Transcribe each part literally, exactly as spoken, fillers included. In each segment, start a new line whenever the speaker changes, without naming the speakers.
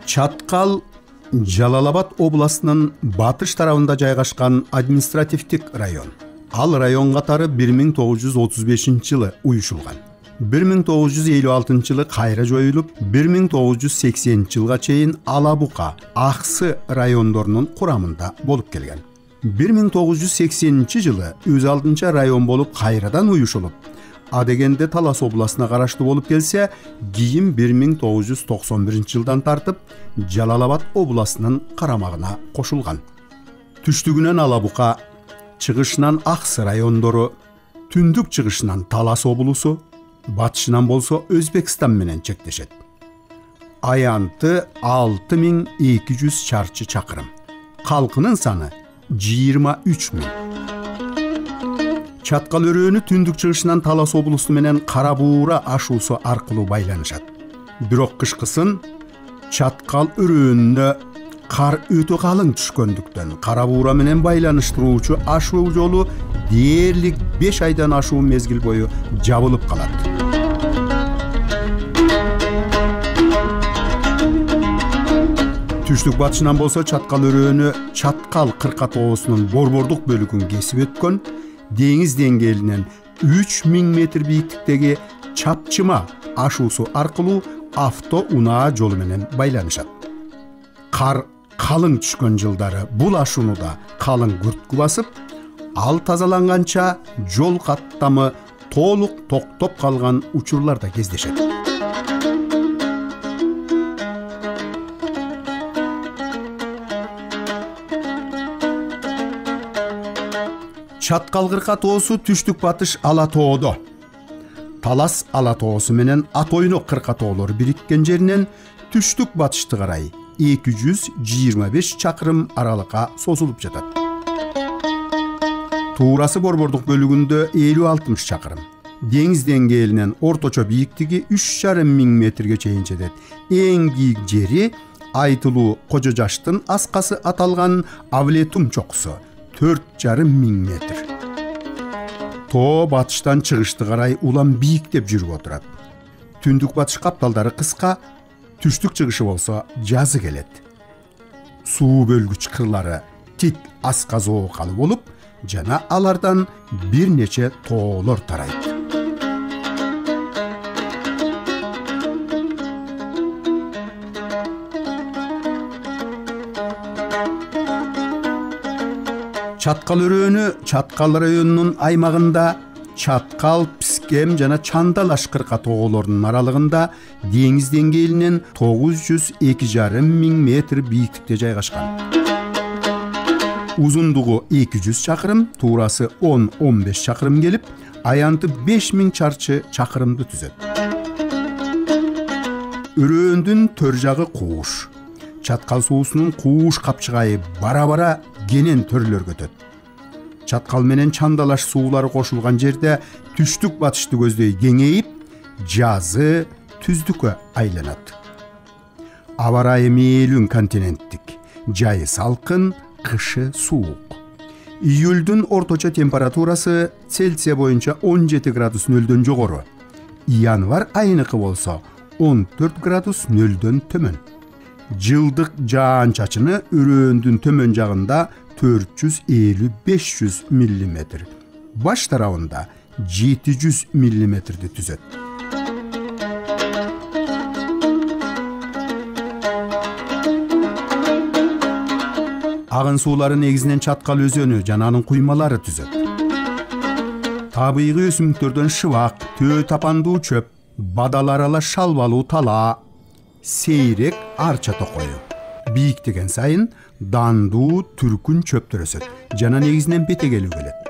Чаткал Жалал Абад областынын батыш тарабында жайгашкан административдик район. Ал район катары бир миң тогуз жүз отуз бешинчи жылы уюшулган. бир миң тогуз жүз элүү алтынчы жылы кайра жоюлуп, бир миң тогуз жүз сексенинчи жылга чейин Ала Бука, Аксы райондорунун курамында болуп келген. бир миң тогуз жүз сексенинчи жылы өз алдынча район болуп кайрадан уюшулуп, адегенде Талас областына караштуу болуп келсе, кийин бир миң тогуз жүз токсон биринчи жылдан тартып Жалал Абад областынын карамагына кошулган. Түштүгүнөн Ала Бука, чыгышынан Аксы райондору, түндүк чыгышынан Талас облусу, батышынан болсо Өзбекстан менен чектешет. Аянты алты миң эки жүз чарчы чакырым. Калкынын саны жыйырма үч миң. Чаткал өрөөнү түндүк чыгышынан Талас облусу менен Кара Буура ашуусу аркылуу байланышат. Бирок кышкысын Чаткал өрөөнүнө кар өтө калың түшкөндүктөн Кара Буура менен байланыштыруучу ашуу жолу дээрлик беш айдан ашуун мезгил бою жабылып калат. Түштүк батышынан болсо Чаткал өрөөнү Чаткал кырка тоосунун борбордук бөлүгүн кесип өткөн, деңиз деңгээлинен үч миң метр бийиктиктеги Чапчыма ашуусу аркылуу авто унаа жолу менен байланышат. Кар калың түшкөн жылдары бул ашууну да калың күрткү басып, ал тазаланганча жол каттамы толук токтоп калган учурлар да кездешет. Чаткал кырка тоосу түштүк батыш Ала тоодо. Талас Ала тоосу менен Атойнок кырка тоолору бириккен жеринен түштүк батышты карай эки жүз жыйырма беш чакырым аралыкка созулуп жатат. Туурасы борбордук бөлүгүндө элүү алтымыш чакырым. Деңиз деңгээлинен орточо бийиктиги үч жарым миң метрге чейин жетет. Эң бийик жери айтылуу Кожо Жаштын аскасы аталган Авлетум чокусу төрт жарым миң метр. Тоо батыштан чыгышты карай улам бийиктеп жүрүп отурат. Түндүк батыш капталдары кыска, түштүк чыгышы болсо жазы келет. Суу бөлгүч кырлары тик асказоокалы болуп, жана алардан бир нече тоолор тарайт. Чаткал өрөөнү Чаткал районунун аймагында Чаткал, Пискем жана Чандалаш кырка тоолорунун аралыгында деңиз деңгээлинен тогуз жүз эки жарым миң метр бийиктикте жайгашкан. Узундугу эки жүз чакырым, туурасы он он беш чакырым келип, аянты беш миң чарчы чакырымды түзөт. Өрөөндүн төр жагы кууш. Чаткал суусунун кууш капчыгайы бара-бара кенен төрлөргө өтөт. Чаткал менен Чандалаш суулары кошулган жерде түштүк батышты көздөй кеңейип, жазы түздүккө айланат. Аба ырайы мээлүүн континенттик, жайы салкын, кышы суук. Июлдун орточо температурасы Цельсия боюнча он жети градус нөлдөн жогору. Январь айыныкы болсо он төрт градус нөлдөн төмөн. Жылдык жаан-чачыны өрөөндүн төмөн жагында төрт жүз элүү беш жүз миллиметр, баш тарабында жети жүз миллиметрди түзөт. Агын суулары негизинен Чаткал өзөнү жана анын куймалары түзөт. Табигый өсүмдүктөрдөн шыбак, төө тапандуу чөп, бадал арала шалбалуу тала, сейрек арча токою. Бийиктеген сайын дандуу түркүн чөптөр өсөт жана негизинен бетегелүү келет.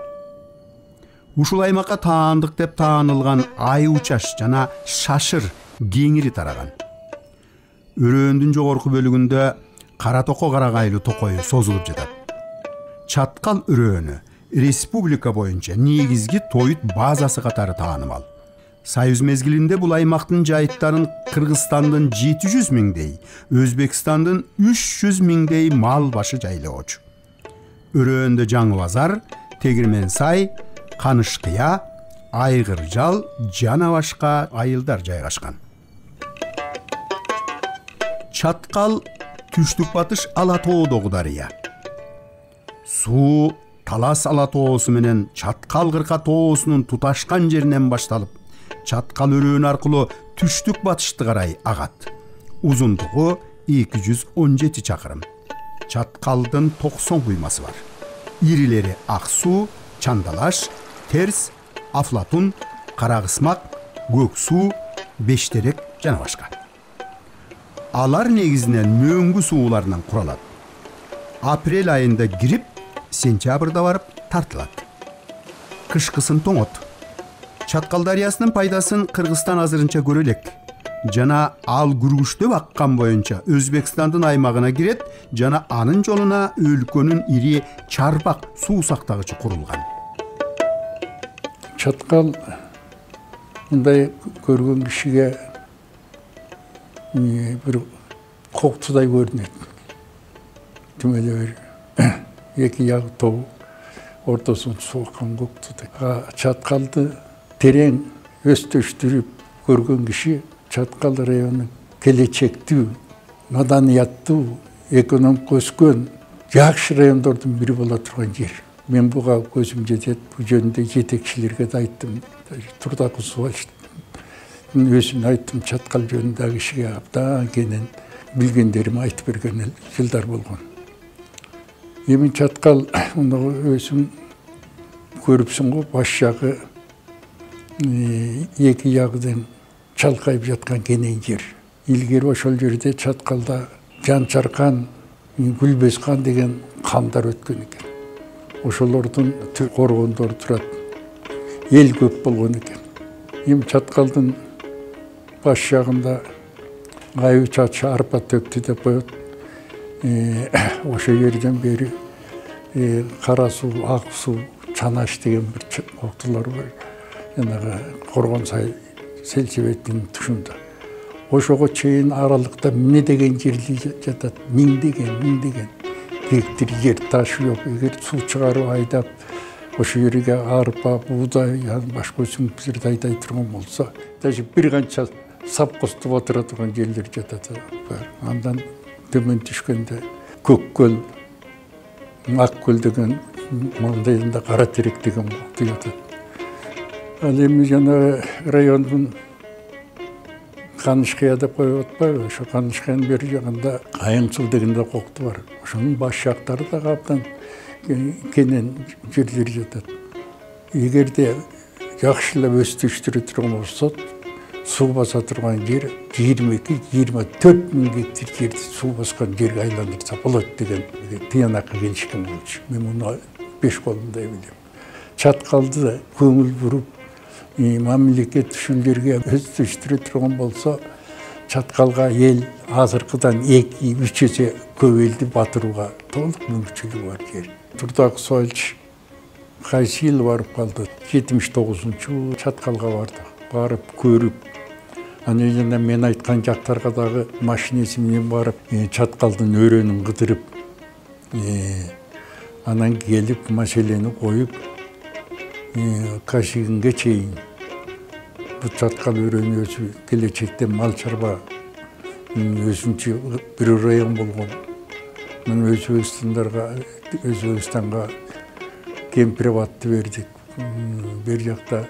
Ушул аймакка таандык деп таанылган ай учаш жана шашыр кеңири тараган. Өрөөндүн жогорку бөлүгүндө Кара токо карагайлуу токою созулуп жатат. Чаткал өрөөнү республика боюнча негизги тоют базасы катары таанымал. Союз мезгилинде бул аймактын жайыттарын Кыргызстандын жети жүз миңдей, Өзбекстандын үч жүз миңдей мал башы жайлоочу. Өрөөндө Жаңы Базар, Тегирмен Сай, Канышкыя, Айгыржал жана башка айылдар жайгашкан. Чаткал түштүк батыш Ала тоодогу дарыя. Суу Талас Ала тоосу менен Чаткал Кырка тоосунун туташкан жеринен башталып, Чаткал өрөөнү аркылуу түштүк батышты карай агат. Узундугу эки жүз он жети чакырым. Чаткалдын токсон куймасы бар. Ирилери Ак суу, Чандалаш, Терс, Афлатун, Карагысмак, Көк суу, Бештерек жана башка. Алар негизинен мөңгү сууларынан куралат. Апрель айында кирип, сентябрда барып тартылат. Кышкысын тоңот. Чаткал дарыясынын пайдасын Кыргызстан азырынча көрө элек. Жана ал күргүчтөп аккан боюнча Өзбекстандын аймагына кирет жана анын жолуна өлкөнүн ири чарбак суу сактагычы курулган.
Чаткал мындай көргөн кишиге бир коктудай көрүнөт. Түмөлө бир эки ягы тоо, ортосун суу аккан коктудай. Чаткалды терең өстөштүрүп көргөн киши Чаткал району келечектүү, маданияттуу, экономика өскөн жакшы райондордун бири боло турган жер. Мен буга көзүм жетет, бул жөнүндө жетекчилерге да айттым. Турдакы Субалчтын өзүм айттым, Чаткал жөнүндө кишиге абдан кенен билгендерим айтып берген жылдар болгон. Эми Чаткал муну өзүм көрүпсүң го, баш жагы эки ягыдан чалкайып жаткан кенен жер. Илгери ошол жерде Чаткалда Жанчаркан, Гүлбескан деген кандар өткөн экен. Ошолордун коргондору турат. Эл көп болгон экен. Эми Чаткалдын баш жагында айы чачы арпа төктү деп коет. Ошол жерден бери Кара суу, Ак суу, Чанаш деген бир коктулар бар. Жанагы Коргон сай Селчебеттин тушунда. Ошого чейин аралыкта эмне деген жерли жатат, миңдеген, миңдеген гектар жер таш жок. Эгер суу чыгарып айдап, ошол жерге арпа, буудай, башка өсүмдүктөрдү айдай турган болсо, даже бир канча сапкоступ отура турган жерлер жатат. Андан төмөн түшкөндө Көккөл, Аккөл деген, мындайында Кара терек деген кокту жатат. Ал эми жана райондун Канышкыя деп коюп атпайбы? Ошо Канышкыянын бери жагында Кайың суу деген да кокту бар. Ошонун баш жактары да абдан кенен жерлер жатат. Эгерде жакшылап өстүштүрө турган болсо, суу баса турган жер жыйырма эки жыйырма төрт миң гектар жерди суу баскан жерге айландырса болот деген тыянакка келишкен болчу. Мен муну беш колумдай билем. Чаткалды көңүл буруп, мамлекет ушул жерге өстүштүрө турган болсо, Чаткалга эл азыркыдан эки үч эсе көп элди батырууга толук мүмкүнчүлүгү бар жер. Турдак Субалч кайсы жыл барып калды? жетимиш тогузунчу Чаткалга барды. Барып көрүп, анан жана мен айткан жактарга дагы машинеси менен барып, Чаткалдын өрөөнүн кыдырып, анан келип маселени коюп, Кашигинге чейин бул Чаткал өрөөнү өзү келечекте мал чарба өзүнчө бир район болгон. Мен Өзбекстандарга, Өзбекстанга кемпирабадты бердик. Бер жакта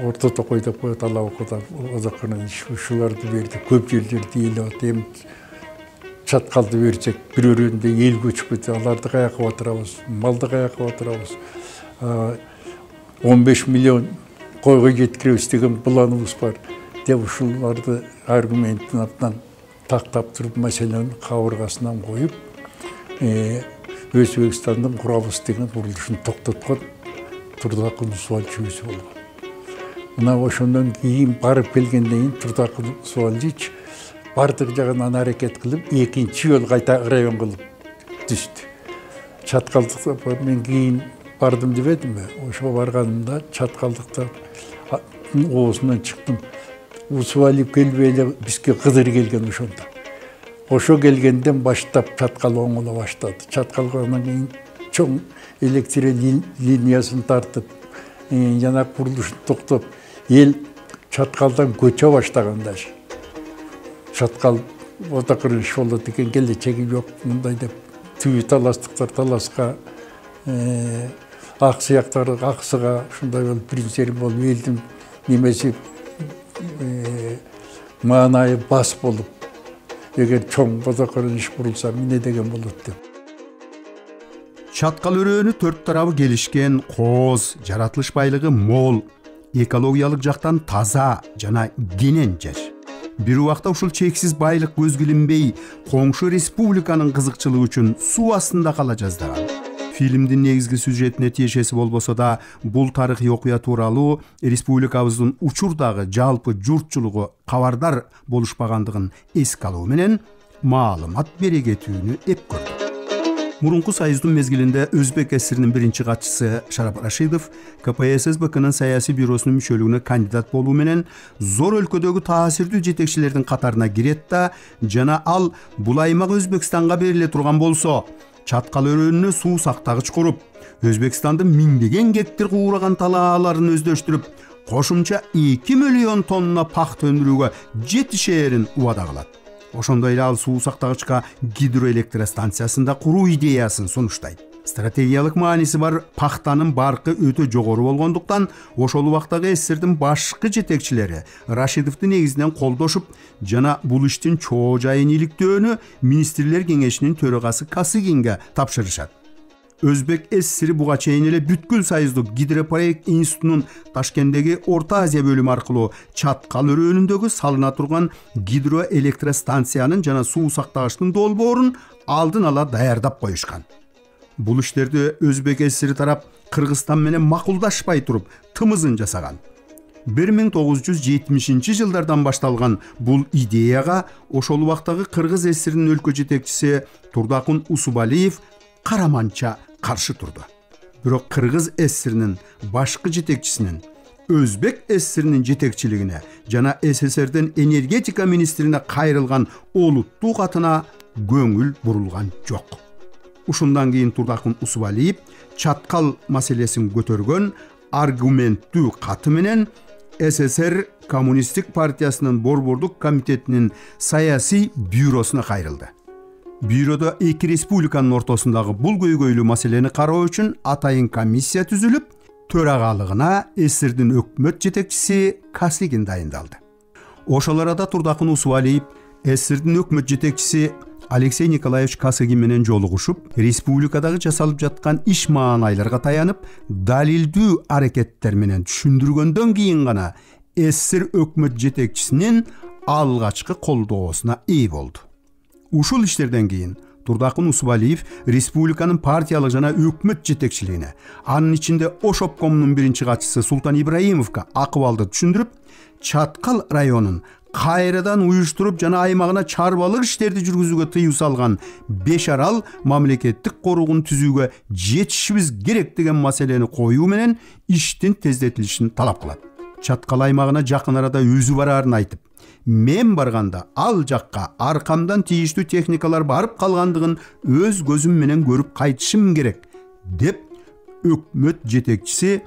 Орто Токой деп коет, Алабыкыда Озакканын ушуларды бердик. Көп жерлерди ээлеп атем. Чаткалды берсек, бир өрөөндө эл көчүп кетти. Аларды каяка батырабыз, малды каяка батырабыз. он беш миллион койго жеткиребиз деген планыбыз бар деп ушуларды аргументин абдан тактап туруп маселенин кабыргасынан коюп, Өзбекстандын курабыз деген курулушун токтоткон Турдакы Субалчы өзү болгон. Мына ошондон кийин барып келгенден кийин Турдакы Субалчы бардык жагынан аракет кылып, экинчи жолу кайта район кылып түштү. Чаткалдыкта мен кийин бардым дебедимби? Ошо барганымда Чаткалдыкта оозунан чыктым. Усубалиев келбей эле бизге Кыдыр келген ошондо. Ошо келгенден баштап чаткал оңоло баштады. Чаткалгандан кийин чоң электр линиясын тартып, жана курулушун токтоп, эл чаткалдан көчө баштаганда чаткал ота кырыныш болот экен, келечеги жок мындай деп түбү таластыктар таласка, ак сыяктар аксыга, ушундай болуп принцип болуп, элдин немеси маанайы бас болуп, эгер чоң ота кырыныш курулса эмне деген болот деп.
Чаткал өрөөнү төрт тарабы келишкен, кооз, жаратылыш байлыгы мол, экологиялык жактан таза жана кенен жер. Бир убакта ушул чексиз байлык көзгүлүнбөй, коңшу республиканын кызыкчылыгы үчүн суу астында кала жаздаган. Фильмдин негизги сюжетине тиешеси болбосо да, бул тарыхый окуя тууралуу республикабыздын учурдагы жалпы журтчулугу кабардар болушпагандыгын эске алуу менен маалымат бере кетүүнү эп көрдү. Мурунку союздун мезгилинде Өзбек ССРинин биринчи катчысы Шарап Рашидов ка пэ эс эс бэ кынын саясий бюросунун мүчөлүгүнө кандидат болуу менен зор өлкөдөгү таасирдүү жетекчилердин катарына кирет да, жана ал бул аймак Өзбекстанга бериле турган болсо, чаткал өрөөнүнө суу сактагыч куруп, Өзбекстандын миңдеген гектар куураган талааларын өздөштүрүп, кошумча эки миллион тонна пахта өндүрүүгө жетишээрин убада кылат. Ошондой эле ал суу сактагычка гидроэлектростанциясында куруу идеясын сунуштайт. Стратегиялык мааниси бар пахтанын баркы өтө жогору болгондуктан, ошол убактагы СССРдин башкы жетекчилери Рашидовду негизинен колдошуп, жана бул иштин чоо жайын иликтөөнү министрлер кеңешинин төрагасы Касыгинге тапшырышат. Өзбек СССРи буга чейин эле бүткүл союздук гидропроект институтунун Ташкенттеги Орто Азия бөлүмү аркылуу чаткал өрөөнүндөгү салына турган гидроэлектростанциянын жана суу сактагычтын долбоорун алдын ала даярдап коюшкан. Бул иштерди Өзбек СССРи тарап Кыргызстан менен макулдашпай туруп тымызын жасаган. бир миң тогуз жүз жетимишинчи жылдардан башталган бул идеяга ошол убактагы Кыргыз СССРинин өлкө жетекчиси Турдакун Усубалиев караманча каршы турду. Бирок Кыргыз СССРинин башкы жетекчисинин Өзбек СССРинин жетекчилигине жана СССРдин энергетика министрине кайрылган олуттуу катына көңүл бурулган жок. Ушундан кийин Турдакун Усубалиев чаткал маселесин көтөргөн аргументтүү каты менен СССР Коммунисттик партиясынын борбордук комитетинин саясий бюросуна кайрылды. Бюродо эки республиканын ортосундагы бул көйгөйлүү маселени кароо үчүн атайын комиссия түзүлүп, төрагалыгына СССРдин өкмөт жетекчиси Касыгин дайындалды. Ошол арада Турдакун Усубалиев СССРдин өкмөт жетекчиси Алексей Николаевич Касыгин менен жолугушуп, республикадагы жасалып жаткан иш маанайларга таянып, далилдүү аракеттер менен түшүндүргөндөн кийин гана СССР өкмөт жетекчисинин алгачкы колдоосуна ээ болду. Ушул иштерден кийин Турдакун Усубалиев республиканын партиялык жана өкмөт жетекчилигине, анын ичинде Ош обкомунун биринчи катчысы Султан Ибраимовго акыбалды түшүндүрүп, Чаткал районун кайрадан уюштуруп жана аймагына чарбалык иштерди жүргүзүүгө тыюу салган беш арал мамлекеттик коругун түзүүгө жетишибиз керек деген маселени коюу менен иштин тездетилишин талап кылат. Чаткал аймагына жакын арада өзү бараарын айтып, мен барганда ал жакка аркамдан тийиштүү техникалар барып калгандыгын өз көзүм менен көрүп кайтышым керек деп өкмөт жетекчиси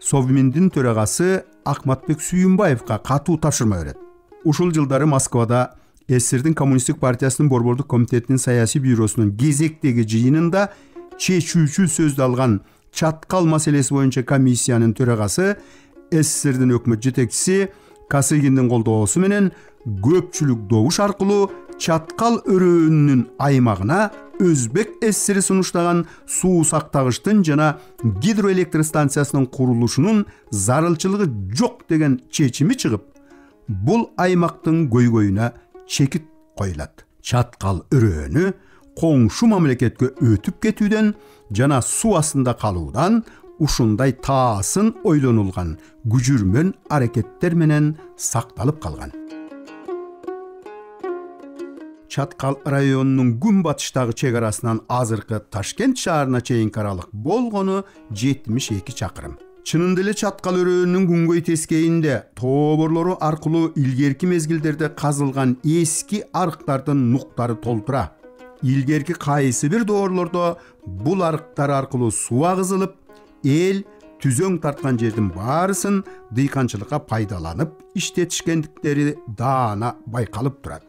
Совминдин төрагасы Акматбек Сүйүнбаевга катуу тапшырма берет. Ушул жылдары Москвада СССРдин Коммунисттик партиясынын борбордук комитетинин саясий бюросунун кезектеги жыйынында чечүүчү сөздү алган чаткал маселеси боюнча комиссиянын төрагасы СССРдин өкмөт жетекчиси Касыгиндин колдоосу менен көпчүлүк добуш аркылуу чаткал өрөөнүнүн аймагына Өзбек СССРи сунуштаган суу сактагычтын жана гидроэлектростанциясынын курулушунун зарылчылыгы жок деген чечими чыгып, бул аймактын көйгөйүнө чекит коюлат. Чаткал өрөөнү коңшу мамлекетке өтүп кетүүдөн жана суу астында калуудан ушундай таасын ойлонулган күжүрмөн аракеттер менен сакталып калган. Чаткал районунун күнбатыштагы чек арасынан азыркы Ташкент шаарына чейинки аралык болгону жетимиш эки чакырым. Чынында эле чаткал өрөөнүнүн күнгөй тескейинде тоборлору аркылуу илгерки мезгилдерде казылган эски арыктардын нуктары толтура. Илгерки кайсы бир доорлордо бул арыктар аркылуу суу агызылып, эл түзөң тарткан жердин баарысын дыйканчылыкка пайдаланып иштетишкендиктери даана байкалып турат.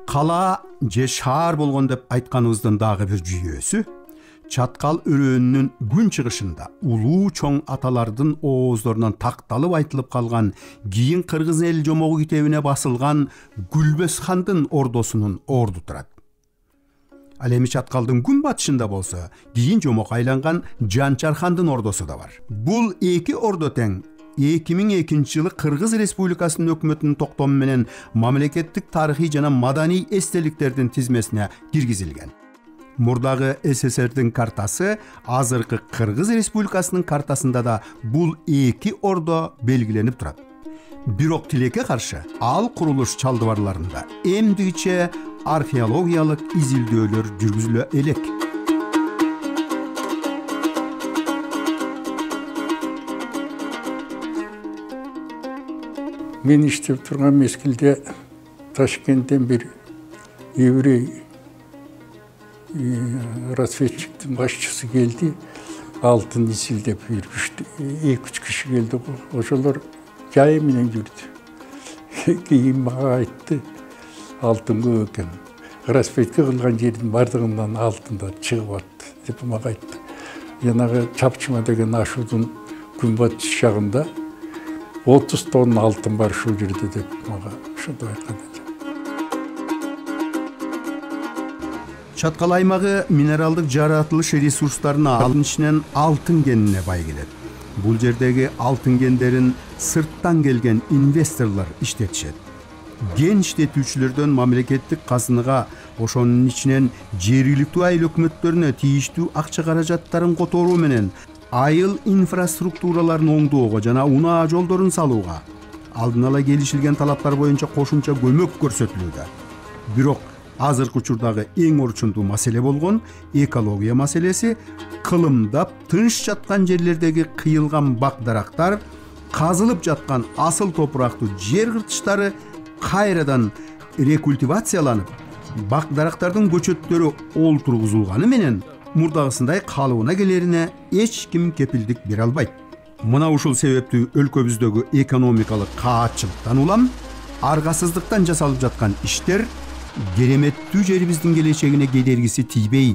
Кала же шаар болгон деп айтканыбыздын дагы бир жүйөөсү чаткал өрөөнүнүн күн чыгышында улуу чоң аталардын ооздорунан такталып айтылып калган кийин кыргыз эл жомогу китебине басылган Гүлбөз хандын ордосунун орду турат. Ал эми чаткалдын күн батышында болсо кийин жомок айланган Жанчар хандын ордосу да бар. Бул эки ордо тең эки миң экинчи жылы Кыргыз Республикасынын өкмөтүнүн токтому менен мамлекеттик тарыхый жана маданий эстеликтердин тизмесине киргизилген. Мурдагы СССРдин картасы, азыркы Кыргыз Республикасынын картасында да бул эки ордо белгиленип турат. Бирок тилекке каршы ал курулуш чалдыбарларында эмдигиче археологиялык изилдөөлөр жүргүзүлө элек.
Мен иштеп турган мезгилде Ташкенттен бир еврей разведчиктин башчысы келди, алтын изилдеп жүрүштү. эки үч киши келди, ошолор жайы менен жүрдү. Кийин мага айтты, алтын көп экен. Разведка кылган жердин бардыгынан алтындар чыгып атты деп мага айтты. Жанагы Чапчыма деген ашуудун күнбатыш жагында отуз тонна алтын бар ушул жерде деп мага ошондой айткан.
Чаткал аймагы минералдык жаратылыш ресурстарына, анын ичинен алтын кенине бай келет. Бул жердеги алтын кендерин сырттан келген инвесторлор иштетишет. Ген иштетүүчүлөрдөн мамлекеттик казынага, ошонун ичинен жергиликтүү айыл өкмөттөрүнө тийиштүү акча каражаттарын которуу менен айыл инфраструктураларын оңдоого жана унаа жолдорун салууга алдын ала келишилген талаптар боюнча кошумча көмөк көрсөтүлүүдө. Бирок азыркы учурдагы эң орчундуу маселе болгон экология маселеси кылымдап тынч жаткан жерлердеги кыйылган бак дарактар, казылып жаткан асыл топурактуу жер кыртыштары кайрадан рекультивацияланып, бак дарактардын көчөттөрү олтургузулганы менен мурдагысындай калыбына келерине эч ким кепилдик бере албайт. Мына ушул себептүү өлкөбүздөгү экономикалык каатчылыктан улам аргасыздыктан жасалып жаткан иштер кереметтүү жерибиздин келечегине кедергиси тийбей,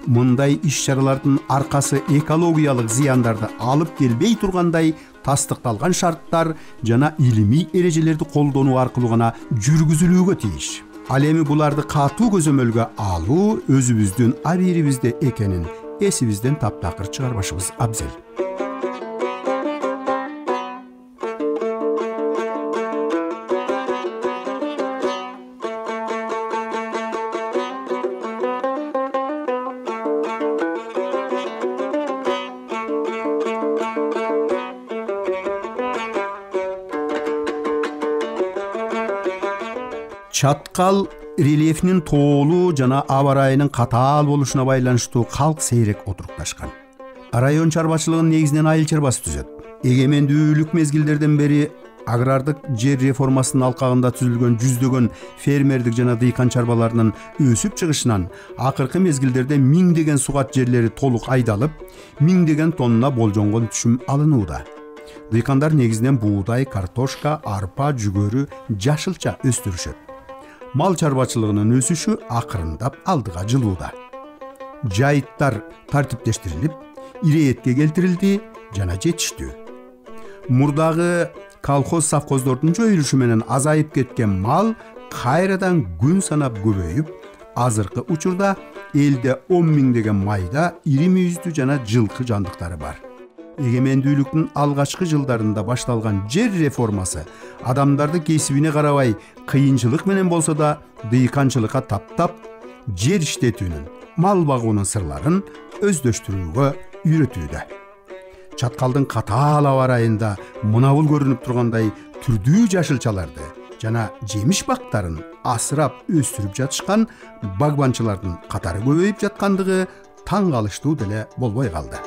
мындай иш-чаралардын аркасы экологиялык зыяндарды алып келбей тургандай тастыкталган шарттар жана илимий эрежелерди колдонуу аркылуу гана жүргүзүлүүгө тийиш. Ал эми буларды катуу көзөмөлгө алуу өзүбүздүн абийирибизде экенин эсибизден таптакыр чыгарбашыбыз абзел. Чаткал рельефинин тоолуу жана аба ырайынын катаал болушуна байланыштуу калк сейрек отурукташкан. Район чарбачылыгын негизинен айыл чарбасы түзөт. Эгемендүүлүк мезгилдерден бери агрардык жер реформасынын алкагында түзүлгөн жүздөгөн фермердик жана дыйкан чарбаларынын өсүп чыгышынан акыркы мезгилдерде миңдеген сугат жерлери толук айдалып, миңдеген тонна болжонгон түшүм алынууда. Дыйкандар негизинен буудай, картошка, арпа, жүгөрү, жашылча өстүрүшөт. Мал чарбачылыгынын өсүшү акырындап алдыга жылууда. Жайыттар тартиптештирилип, ирээтке келтирилди жана жетиштүү. Мурдагы колхоз совхоздордун жоюлушу менен азайып кеткен мал кайрадан күн санап көбөйүп, азыркы учурда элде он миңдеген майда ири мүйүздүү жана жылкы жандыктары бар. Эгемендүүлүктүн алгачкы жылдарында башталган жер реформасы адамдарды кесибине карабай кыйынчылык менен болсо да дыйканчылыкка таптап, жер иштетүүнүн, мал багуунун сырларын өздөштүрүүгө үйрөтүүдө. Чаткалдын катаал аба ырайында мына бул көрүнүп тургандай түрдүү жашылчаларды жана жемиш бактарын асырап өстүрүп жатышкан багбанчылардын катары көбөйүп жаткандыгы таң калыштуу деле болбой калды.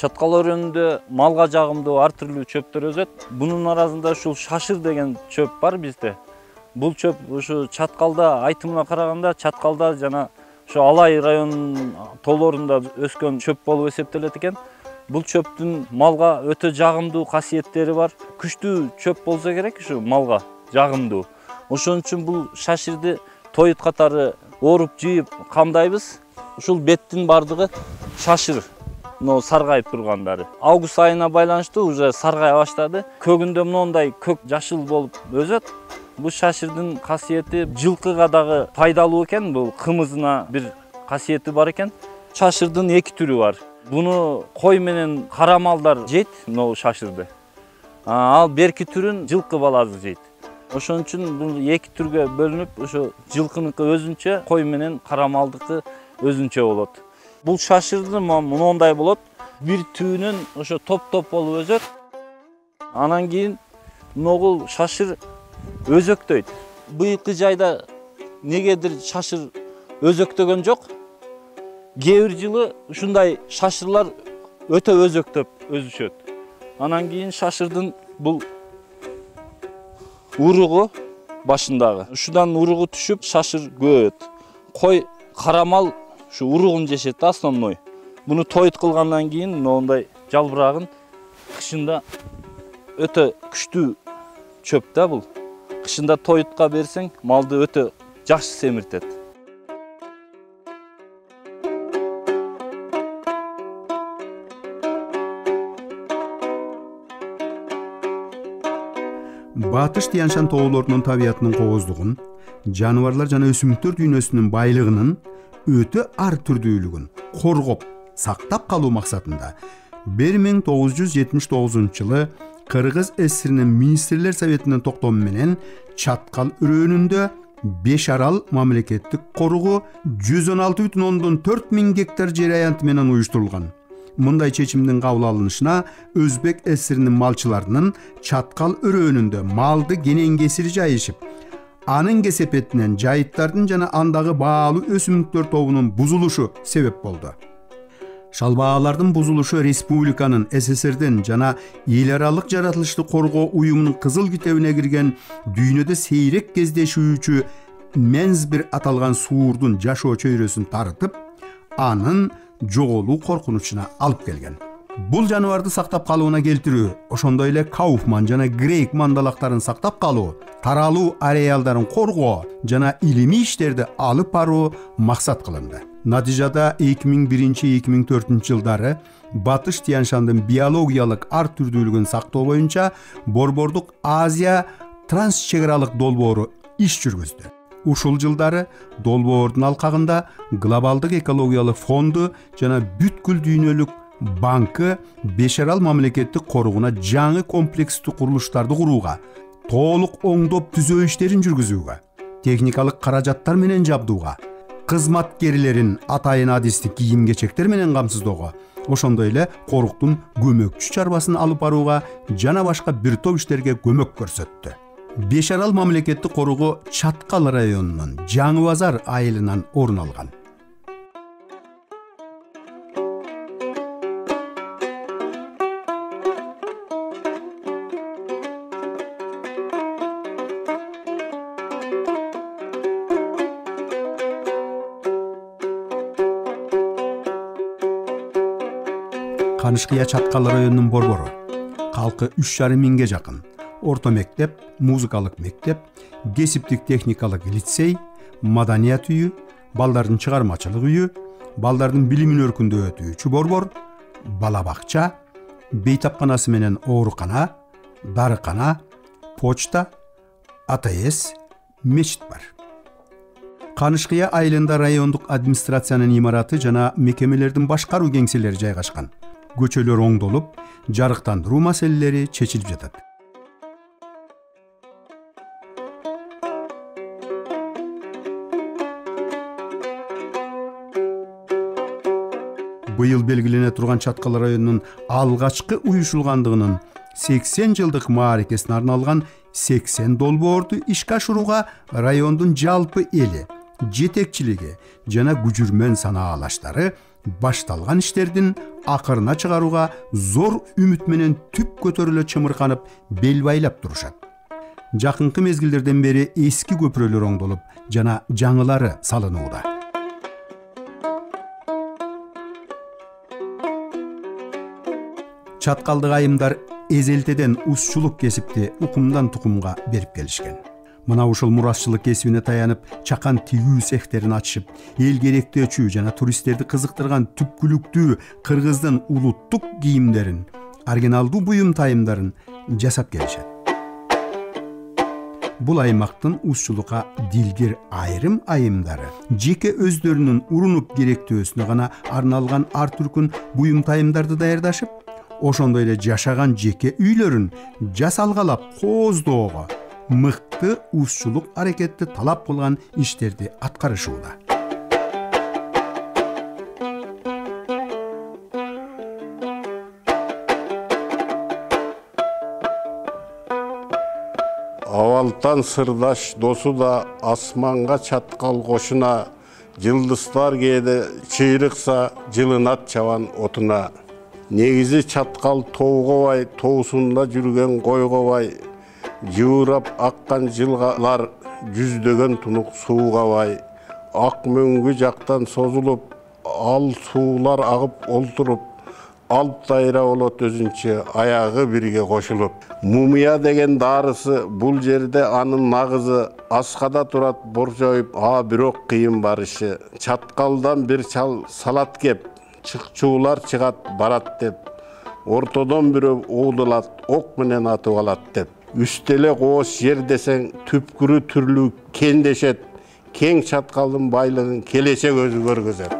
Чаткал өрөөнүндө малга жагымдуу ар түрлүү чөптөр өсөт. Бунун арасында ушул шашыр деген чөп бар бизде. Бул чөп ушу Чаткалда айтымына караганда Чаткалда жана ушу Алай районунун тоолорунда өскөн чөп болуп эсептелет экен. Бул чөптүн малга өтө жагымдуу касиеттери бар. Күчтүү чөп болсо керек ушу малга жагымдуу. Ошон үчүн бул шашырды тоют катары ооруп жыйып камдайбыз. Ушул беттин бардыгы шашыр. Но саргайып тургандары. Август айына байланыштуу уже саргая баштады. Көгүндө моундай көк жашыл болуп өсөт. Бул шашырдын касиети жылкыга дагы пайдалуу экен. Бул кымызына бир касиети бар экен. Шашырдын эки түрү бар. Буну кой менен кара малдар жейт, могу шашырды. Ал берки түрүн жылкы баласы жейт. Ошон үчүн бул эки түргө бөлүнүп, ошо жылкыныкы өзүнчө, кой менен кара малдыкы өзүнчө болот. Бул шашырды моундай болот. Бир түүнөн ошо топ-топ болуп өсөт. Анан кийин могул шашыр өзөктөйт. Быйылкы жайда негедир шашыр өзөктөгөн жок. Кээ бир жылы ушундай шашырлар өтө өзөктөп өсүшөт. Анан кийин шашырдын бул уругу башындагы. Ушудан уругу түшүп шашыр көбөйөт. Кой, кара мал ушу уругун жешет да основной. Буну тоют кылгандан кийин моундай жалбырагын кышында өтө күчтүү чөп да бул. Кышында тоютка берсең, малды өтө жакшы семиртет.
Батыш Тянь-Шань тоолорунун табиятынын кооздугун, жаныбарлар жана өсүмдүктөр дүйнөсүнүн байлыгынын өтө ар түрдүүлүгүн коргоп, сактап калуу максатында бир миң тогуз жүз жетимиш тогузунчу жылы Кыргыз ССРинин министрлер советинин токтому менен Чаткал өрөөнүндө Беш Арал мамлекеттик коругу жүз он алты бүтүн ондон төрт миң гектар жер аянты менен уюштурулган. Мындай чечимдин кабыл алынышына Өзбек ССРинин малчыларынын Чаткал өрөөнүндө малды кенен кесири жайышып, анын кесепетинен жайыттардын жана андагы баалуу өсүмдүктөр тобунун бузулушу себеп болду. Шалбаалардын бузулушу республиканын, СССРдин жана эл аралык жаратылышты коргоо уюмунун кызыл китебине кирген дүйнөдө сейрек кездешүүчү Мензбир аталган суурдун жашоо чөйрөсүн тарытып, анын жоголуу коркунучуна алып келген. Бул жаныбарды сактап калууна келтирүү, ошондой эле Кауфман жана Грейк мандалактарын сактап калуу, таралуу ареалдарын коргоо жана илимий иштерди алып баруу максат кылынды. Натыйжада эки миң биринчи эки миң төртүнчү жылдары Батыш Тянь-Шандын биологиялык ар түрдүүлүгүн сактоо боюнча Борбордук Азия трансчек аралык долбоору иш жүргүздү. Ушул жылдары долбоордун алкагында Глобалдык экологиялык фонду жана бүткүл дүйнөлүк банкы Беш Арал мамлекеттик коругуна жаңы комплекстүү курулуштарды курууга, толук оңдоп түзөө иштерин жүргүзүүгө, техникалык каражаттар менен жабдууга, кызматкерлерин атайын адистик кийим-кечектер менен камсыздоого, ошондой эле коруктун көмөкчү чарбасын алып барууга жана башка бир топ иштерге көмөк көрсөттү. Беш Арал мамлекеттик коругу Чаткал районунун Жаңы Базар айылынан орун алган. Канышкыя Чаткал районунун борбору. Калкы үч жарым миңге жакын. Орто мектеп, музыкалык мектеп, кесиптик техникалык лицей, маданият үйү, балдардын чыгармачылык үйү, балдардын билимин өркүндөтүүчү борбор, бала бакча, бейтапканасы менен оорукана, дарыкана, почта, А Т С, мечит бар. Канышкыя айылында райондук администрациянын имараты жана мекемелердин башкаруу кеңселери жайгашкан. Көчөлөр оңдолуп, жарыктандыруу маселелери чечилип жатат. Быйыл белгилене турган Чаткал районунун алгачкы уюшулгандыгынын сексен жылдык мааракесине арналган сексен долбоорду ишке ашырууга райондун жалпы эли, жетекчилиги жана күжүрмөн санаалаштары башталган иштердин акырына чыгарууга зор үмүт менен түп көтөрүлө чымырканып бел байлап турушат. Жакынкы мезгилдерден бери эски көпүрөлөр оңдолуп жана жаңылары салынууда. Чаткалдык айымдар эзелтеден узчулук кесипти укумдан тукумга берип келишкен. Мына ушул мурасчылык кесибине таянып, чакан тигүү цехтерин ачышып, эл керектөөчү жана туристтерди кызыктырган түпкүлүктүү кыргыздын улуттук кийимдерин, оригиналдуу буюм тайымдарын жасап келишет. Бул аймактын узчулукка дилгир айрым айымдары жеке өздөрүнүн урунуп керектөөсүнө гана арналган ар түркүн буюм тайымдарды даярдашып, ошондой эле жашаган жеке үйлөрүн жасалгалап кооздоого, мыкты узчулук аракетти талап кылган иштерди аткарышууда.
Авалтан сырдаш досу да асманга чаткал кошуна, жылдыздар кээде чыйрыкса жылынат чабан отуна. Негизи чаткал тоогобай, тоосунда жүргөн койгобай, жыбырап аккан жылгалар жүздөгөн тунук суугабай, ак мөңгү жактан созулуп, ал суулар агып олтуруп, алп дайра болот өзүнчө аягы бирге кошулуп. Мумия деген дарысы бул жерде анын нагызы, аскада турат боржоюп, а бирок кыйын барышы. Чаткалдан бир чал салат кеп, чыкчуулар чыгат барат деп, ортодон бирөө оодулат, ок менен атып алат деп. Үстеле кооз жер десең түпкүрү түрлүү кендешет, кең чаткалдын байлыгын келечек өзү көргөзөт.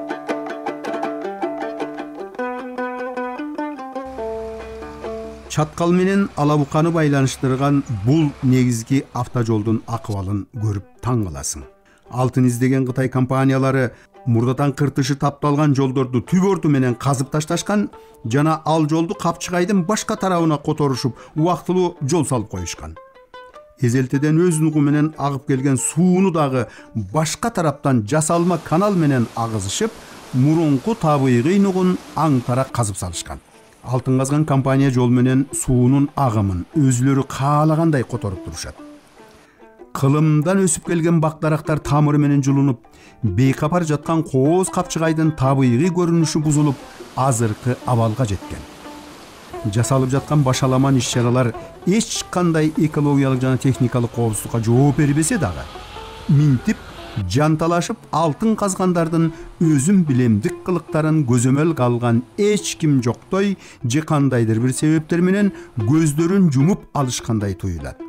Чаткал менен Алабуканы байланыштырган бул негизги автожолдун акыбалын көрүп таң каласың. Алтын издеген Кытай компаниялары мурдатан кыртышы тапталган жолдорду түп орту менен казып ташташкан жана ал жолду Капчыгайдын башка тарабына которушуп, убактылуу жол салып коюшкан. Эзелтеден өз нугу менен агып келген сууну дагы башка тараптан жасалма канал менен агызышып, мурунку табыйгый нугун аң тарак казып салышкан. Алтын казган компания жол менен суунун агымын өзүлөрү каалагандай которуп турушат. Кылымдан өсүп келген бак-дарактар тамыры менен жулунуп, бейкапар жаткан кооз Капчыгайдын табыйгый көрүнүшү бузулуп, азыркы абалга жеткен. Жасалып жаткан башаламан иш-чаралар эч кандай экологиялык жана техникалык коопсуздукка жооп бербесе дагы, минтип жанталашып алтын казгандардын өзүм билемдик кылыктарын көзөмөл алган эч ким жоктой же кандайдыр бир себептер менен көздөрүн жумуп алышкандай туюлат.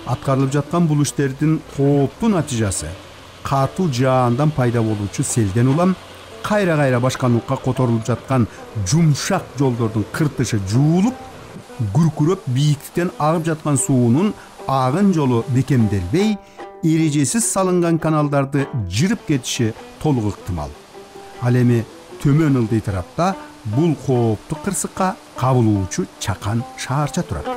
Аткарылып жаткан бул иштердин кооптуу натыйжасы катуу жаандан пайда болуучу селден улам кайра-кайра башка нукка которулуп жаткан жумшак жолдордун кыртышы жуулуп, күркүрөп бийиктиктен агып жаткан суунун агын жолу бекемделбей, эрежесиз салынган каналдарды жырып кетиши толук ыктымал. Ал эми төмөн ылдый тарапта бул кооптуу кырсыкка кабылуучу чакан шаарча турат.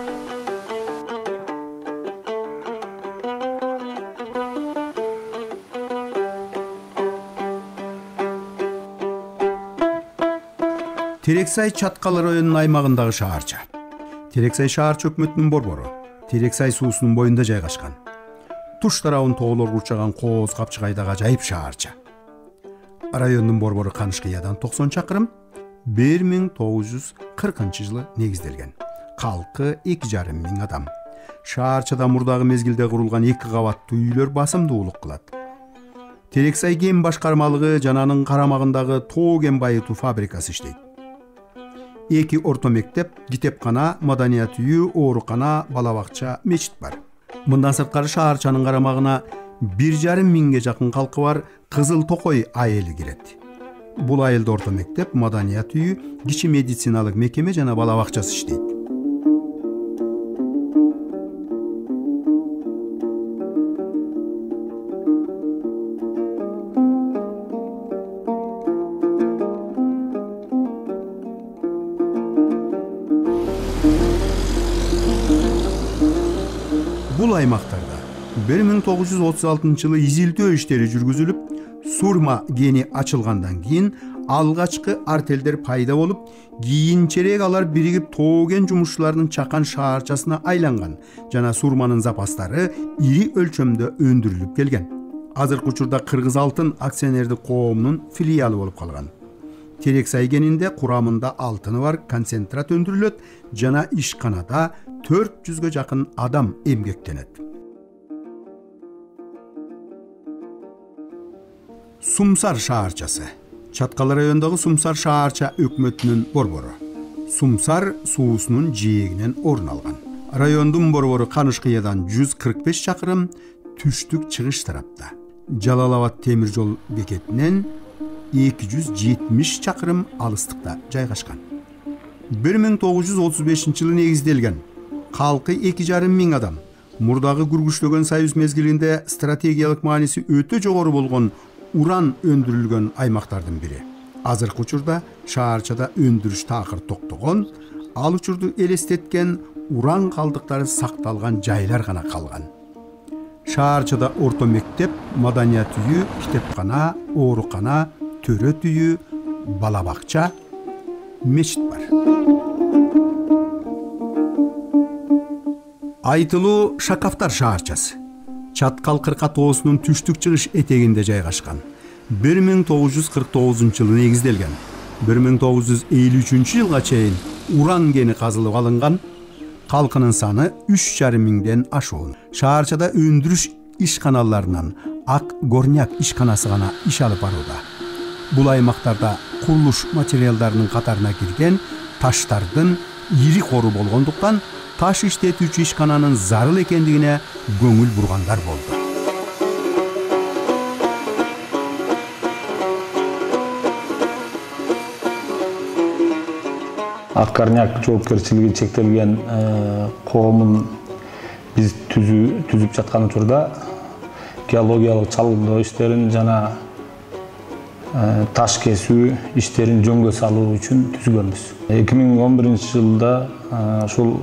Терексай Чаткал районунун аймагындагы шаарча. Терексай шаарча өкмөтүнүн борбору. Терексай суусунун боюнда жайгашкан. Туш тарабын тоолор курчаган кооз Капчыгайдагы ажайып шаарча. Райондун борбору Канышкыядан токсон чакырым, бир миң тогуз жүз кыркынчы жылы негизделген. Калкы эки жарым миң адам. Шаарчада мурдагы мезгилде курулган эки кабаттуу үйлөр басымдуулук кылат. Терексай кен башкармалыгы жана анын карамагындагы тоо кен байытуу фабрикасы иштейт. Эки орто мектеп, китепкана, маданият үйү, оорукана, бала бакча, мечит бар. Мындан сырткары шаарчанын карамагына бир жарым миңге жакын калкы бар Кызыл Токой айылы кирет. Бул айылда орто мектеп, маданият үйү, кичи медициналык мекеме жана бала бакчасы иштейт. Бул аймактарда бир миң тогуз жүз отуз алтынчы жылы изилтөө иштери жүргүзүлүп, Сурма кени ачылгандан кийин алгачкы артелдер пайда болуп, кийинчерээк алар биригип тооген жумушчулардын чакан шаарчасына айланган жана сурманын запастары ири өлчөмдө өндүрүлүп келген. Азыркы учурда Кыргыз алтын акционердик коомунун филиалы болуп калган. Терексай кенинде курамында алтыны бар концентрат өндүрүлөт жана ишканада төрт жүзгө жакын адам эмгектенет. Сумсар шаарчасы. Чаткал райондогу Сумсар шаарча өкмөтүнүн борбору. Сумсар суусунун жээгинен орун алган. Райондун борбору Канышкыядан жүз кырк беш чакырым түштүк чыгыш тарапта. Жалал-Абад темир жол бекетинен эки жүз жетимиш чакырым алыстыкта жайгашкан. бир миң тогуз жүз отуз бешинчи жылы негизделген. Калкы эки жарым миң адам. Мурдагы күргүчлөгөн союз мезгилинде стратегиялык мааниси өтө жогору болгон уран өндүрүлгөн аймактардын бири. Азыркы учурда шаарчада өндүрүш такыр токтогон, ал учурду элестеткен уран калдыктары сакталган жайлар гана калган. Шаарчада орто мектеп, маданият үйү, китепкана, оорукана, төрөт үйү, бала бакча, мечит бар. Айтылуу Шакафтар шаарчасы. Чаткал кырка тоосунун түштүк чыгыш этегинде жайгашкан. бир миң тогуз жүз кырк тогузунчу жылы негизделген. бир миң тогуз жүз элүү үчүнчү жылга чейин уран кени казылып алынган. Калкынын саны үч жарым миңден ашуун. Шаарчада өндүрүш ишканаларынан Ак горняк ишканасы гана иш алып барууда. Бул аймактарда курулуш материалдарынын катарына кирген таштардын ири кору болгондуктан таш иштетүүчү ишкананын зарыл экендигине көңүл бургандар болду.
Ак горняк жоопкерчилиги чектелген коомун биз түзүп жаткан учурда геологиялык чалгындоо иштерин жана таш кесүү иштерин жөнгө салуу үчүн түзгөнбүз. эки миң он биринчи жылда ушул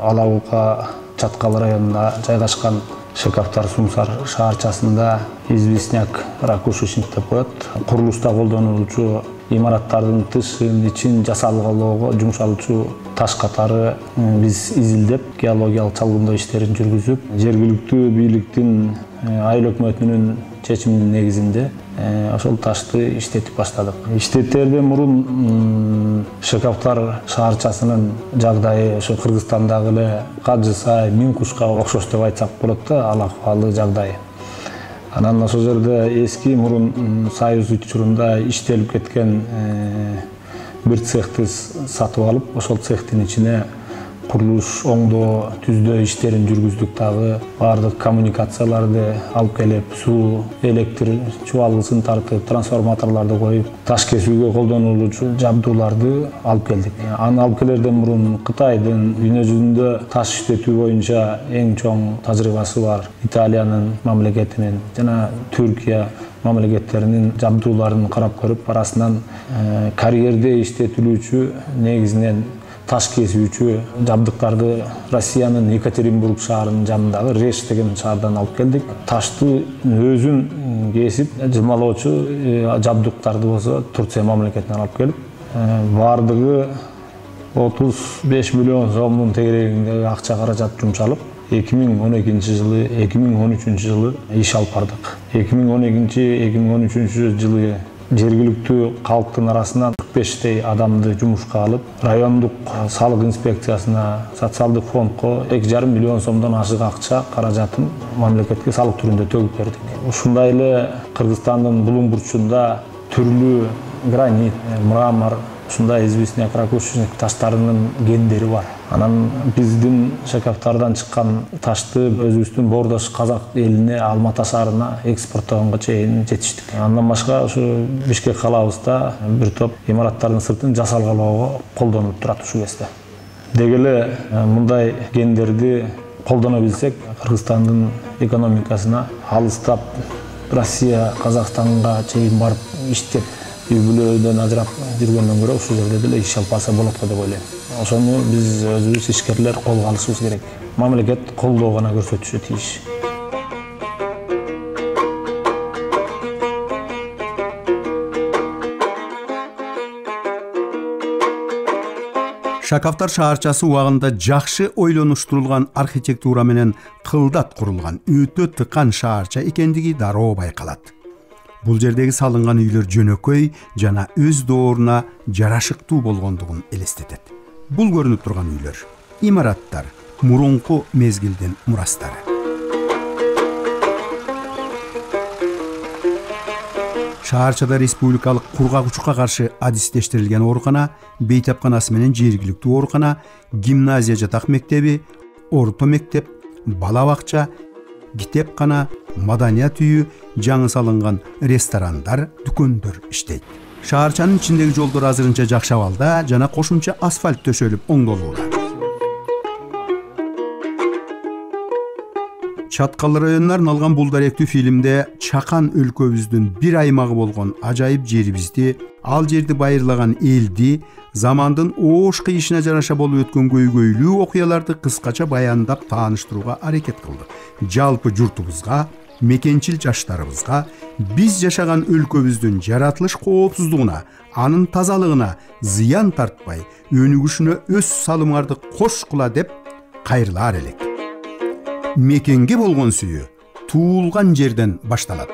Алабука Чаткал районунда жайгашкан Шакафтар Сумсар шаарчасында известняк ракушечник деп коет. Курулушта колдонулуучу имараттардын тышын, ичин жасалгалоого жумшалуучу таш катары биз изилдеп, геологиялык чалгындоо иштерин жүргүзүп, жергиликтүү бийликтин айыл өкмөтүнүн чечиминин негизинде ошол ташты иштетип баштадык. Иштетерден мурун Шакафтар шаарчасынын жагдайы ошо Кыргызстандагы эле Кажы Сай, Миң Кушка окшош деп айтсак болот да, ал акыбалы жагдайы. Анан ошол жерде эски мурун союз учурунда иштелип кеткен бир цехти сатып алып, ошол цехтин ичине курулуш, оңдоо, түздөө иштерин жүргүздүк дагы. Баардык коммуникацияларды алып келип, суу, электр чубалгысын тартып, трансформаторлорду коюп, таш кесүүгө колдонулуучу жабдууларды алып келдик. Аны алып келерден мурун Кытайдын дүйнө жүзүндө таш иштетүү боюнча эң чоң тажрыйбасы бар Италиянын мамлекетинин жана Түркия мамлекеттеринин жабдууларын карап көрүп, арасынан карьерде иштетилүүчү негизинен таш кесүүчү жабдыктарды Россиянын Екатеринбург шаарынын жанындагы Реш деген шаардан алып келдик. Ташты өзүн кесип жымалоочу жабдыктарды болсо Турция мамлекетинен алып келип, баардыгы отуз беш миллион сомдун тегерегиндеги акча каражат жумшалып, эки миң он экинчи жылы, эки миң он үчүнчү жылы иш алып бардык. эки миң он экинчи — эки миң он үчүнчү жылы жергиликтүү калктын арасынан кырк бештей адамды жумушка алып, райондук салык инспекциясына, социалдык фондко эки жарым миллион сомдон ашык акча каражатын мамлекетке салык түрүндө төгүп бердик. Ушундай эле Кыргызстандын булуң бурчунда түрлүү гранит, мрамор, ушундай известняк ракушечник таштарынын гендери бар. Анан биздин Шакафтардан чыккан ташты өзүбүздүн боордош казак элине, Алмата шаарына экспорттогонго чейин жетиштик. Андан башка ушу Бишкек калабызда бир топ имараттардын сыртын жасалгалоого колдонуп турат ушул кезде. Деги эле мындай гендерди колдоно билсек, Кыргызстандын экономикасына алыстап Россия, Казакстанга чейин барып иштеп, үй-бүлөдөн ажырап жүргөндөн көрө ушул жерде деле иш алып барса болот го деп ойлойм. Ошону биз өзүбүз ишкерлер колго алышыбыз керек. Мамлекет колдоо гана көрсөтүшү тийиш.
Шакавтар шаарчасы убагында жакшы ойлонуштурулган архитектура менен кылдат курулган өтө тыкан шаарча экендиги дароо байкалат. Бул жердеги салынган үйлөр жөнөкөй жана өз дооруна жарашыктуу болгондугун элестетет. Бул көрүнүп турган үйлөр имараттар мурунку мезгилдин мурастары. Шаарчада республикалык кургагучукка каршы адистештирилген оорукана, бейтапканасы менен жергиликтүү оорукана, гимназия жатак мектеби, орто мектеп, бала бакча, китепкана, маданият үйү, жаңы салынган ресторандар, дүкөндөр иштейт. Шаарчанын ичиндеги жолдор азырынча жакшы абалда жана кошумча асфальт төшөлүп оңдолууда. Чаткал районунан алган бул даректүү фильмде чакан өлкөбүздүн бир аймагы болгон ажайып жерибизди, ал жерди байырлаган элди, замандын оош кыйышына жараша болуп өткөн көйгөйлүү окуяларды кыскача баяндап тааныштырууга аракет кылдык. Жалпы журтубузга, мекенчил жаштарыбызга биз жашаган өлкөбүздүн жаратылыш коопсуздугуна, анын тазалыгына зыян тартпай, өнүгүшүнө өз салымыңарды кошкула деп кайрылаар элек. Мекенге болгон сүйүү туулган жерден башталат.